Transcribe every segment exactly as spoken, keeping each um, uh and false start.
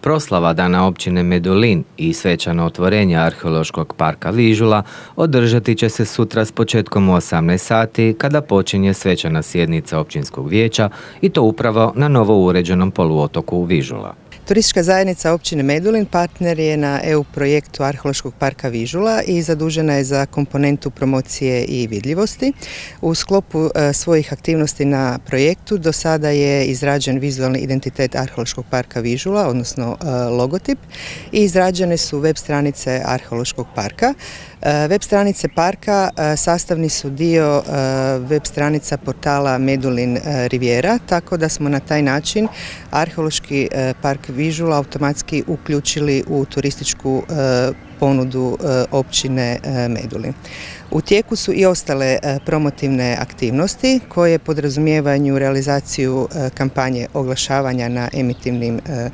Proslava Dana općine Medulin i svečano otvorenje arheološkog parka Vižula održati će se sutra s početkom u osamnaest sati kada počinje svečana sjednica općinskog vijeća i to upravo na novo uređenom poluotoku Vižula. Turistička zajednica općine Medulin partner je na E U projektu Arheološkog parka Vižula i zadužena je za komponentu promocije i vidljivosti. U sklopu e, svojih aktivnosti na projektu do sada je izrađen vizualni identitet Arheološkog parka Vižula, odnosno e, logotip, i izrađene su web stranice Arheološkog parka. E, web stranice parka e, sastavni su dio e, web stranica portala Medulin e, Riviera, tako da smo na taj način Arheološki e, park Vižula automatski uključili u turističku e, ponudu e, općine e, Medulin. U tijeku su i ostale e, promotivne aktivnosti koje podrazumijevaju realizaciju e, kampanje oglašavanja na emitivnim e,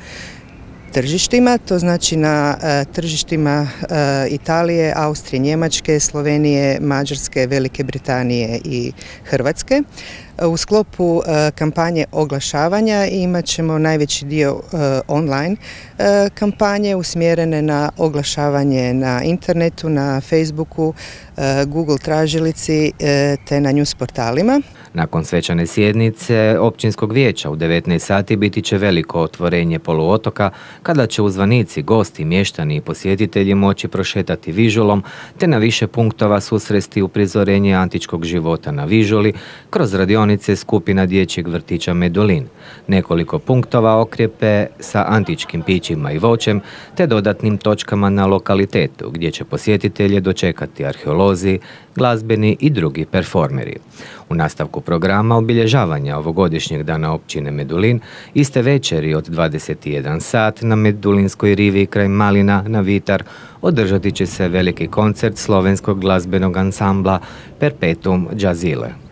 tržištima, to znači na e, tržištima e, Italije, Austrije, Njemačke, Slovenije, Mađarske, Velike Britanije i Hrvatske. U sklopu e, kampanje oglašavanja imat ćemo najveći dio e, online e, kampanje usmjerene na oglašavanje na internetu, na Facebooku, e, Google tražilici e, te na news portalima. Nakon svečane sjednice općinskog vijeća u devetnaest sati biti će veliko otvorenje poluotoka kada će uzvanici, gosti, mještani i posjetitelji moći prošetati Vižulom te na više punktova susresti uprizorenje antičkog života na Vižuli kroz radionice skupina dječjeg vrtića Medulin, nekoliko punktova okrijepe sa antičkim pićima i voćem te dodatnim točkama na lokalitetu gdje će posjetitelje dočekati arheolozi, glazbeni i drugi performeri. U nastavku programa obilježavanja ovogodišnjeg dana općine Medulin iste večeri od dvadeset jedan sat na Medulinskoj rivi kraj Malina na Vitar održati će se veliki koncert slovenskog glazbenog ansambla Perpetuum Jazzile.